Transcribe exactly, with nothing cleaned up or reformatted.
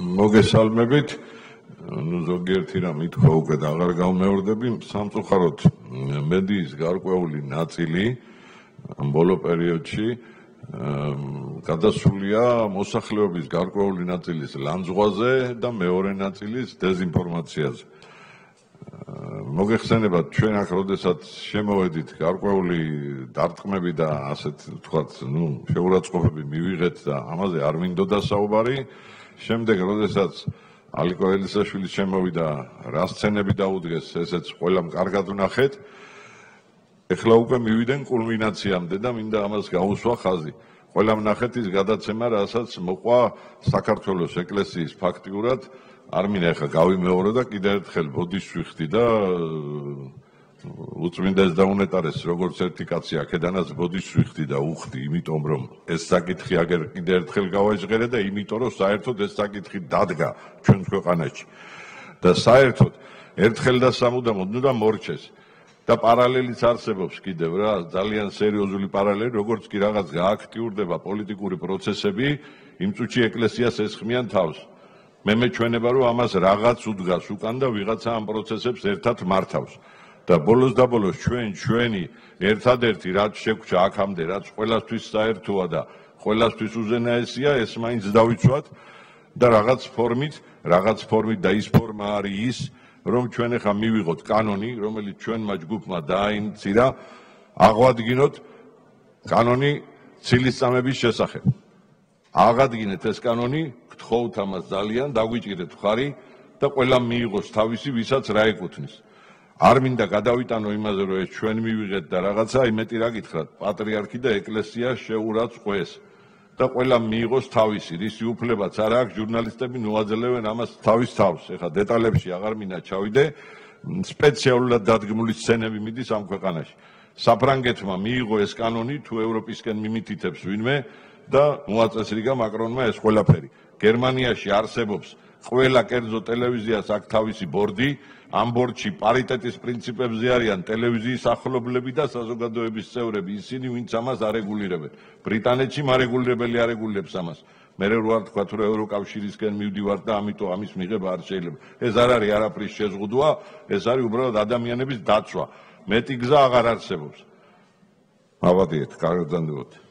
მოგესალმებით. ნუ ზოგიერთი რამ ითქვა უკვე და აღარ გავმეორდები. სამწუხაროდ მედიის გარკვეული ნაწილი ამ ბოლო პერიოდში გადასულია მოსახლეობის გარკვეული ნაწილის ლანძღვაზე და მეორე ნაწილის დეზინფორმაციაზე. მოგეხსენებათ, ჩვენ აქ როდესაც შემოვედით გარკვეული დარტყმები და ასეთ ვთქვათ, ნუ შეურაცხყოფები მივიღეთ და ამაზე არ მინდოდა საუბარი. შემდეგ როდესაც ალიკო ელისაშვილი შემოვიდა, რა სცენები დაუდგეს, ესეც ყველამ კარგად ვნახეთ. ეხლა უკვე მივიდნენ კულმინაციამდე და მინდა ამას გაუსვა ხაზი. ყველამ ნახეთ ის გადაცემა, რასაც მოყვა საქართველოს ეკლესიის ფაქტიურად არ მინდა ეხლა გავიმეორო და კიდევ ერთხელ ბოდიშს ვიხდი და უწმინდეს დაუნეტარეს როგორც ერთი კაცი აქედანაც ბოდიშს ვიხდი და უხდი, იმიტომ რომ ეს საკითხი აგერ კიდევ ერთხელ გავაჟღერე და იმიტომ რომ საერთოდ ეს საკითხი დადგა ჩვენ ქვეყანაში და საერთოდ ერთხელ და სამუდამოდ ნუ და მორჩეს და პარალელიც არსებობს კიდევ რა ძალიან სერიოზული პარალელი, როგორც კი რაღაც გააქტიურდება პოლიტიკური პროცესები, იმ წუთში ეკლესიას ესხმიან თავს. მე მეჩვენება რომ ამას რაღაც უდგას უკან და ვიღაცა ამ პროცესებს ერთად მართავს და ბოლოს და ბოლოს ჩვენ ჩვენი ერთადერთი რაც შეგვჭა აქამდე რაც ყველასთვის საერთოა და ყველასთვის უზენაესია ეს მაინც დავიცვათ და რაღაც ფორმით რაღაც ფორმით და ის ფორმა არის ის რომ ჩვენ ახლა მივიღოთ კანონი რომელიც ჩვენმა ჯგუფმა დააინიცირა აღვადგინოთ კანონი ცილისწამების შესახებ აღადგინეთ ეს კანონი გთხოვთ ამას ძალიან დაგვიჭირეთ ხარი და ყველამ მიიღოს თავისი ვისაც რა ეკუთვნის არ მინდა გადავიტანო იმაზე რომ ეს ჩვენ მივიღეთ და რაღაცა იმეტი რა გითხრათ პატრიარქი და ეკლესია შეურაცხყვეს და ყველამ მიიღოს თავისი რისი უფლებაც არ აქვს ჟურნალისტები ნუაძლებენ ამას თავის თავს ეხლა დეტალებში აღარ მინდა ჩავიდე სპეციალურად დადგმული სცენები მიდის ამ ქვეყანაში საფრანგეთმა მიიღო ეს კანონი თუ ევროპისკენ მიმითითებს ვინმე და მოაწესრიგა მაკრონმა ეს ყველაფერი გერმანიაში არსებობს ყველა კერძო ტელევიზიას აქვს თავისი ბორდი ამ ბორდში პარიტეტის პრინციპებზე არიან ტელევიზიის ახლობლები და საზოგადოების წევრები ისინი ვინც ამას არეგულირებენ ბრიტანეთში მარეგულირებელი არეგულირებს ამას მე რო არ თქვა თუ ევროკავშირისკენ მივდივარ და ამიტომ ამის მიღება არ შეიძლება ეს არ არის არაფრის შეზღუდვა ეს არის უბრალოდ ადამიანების დაცვა მეტი გზა აღარ არსებობს მოვადიეთ კარგად გძანდებოდეთ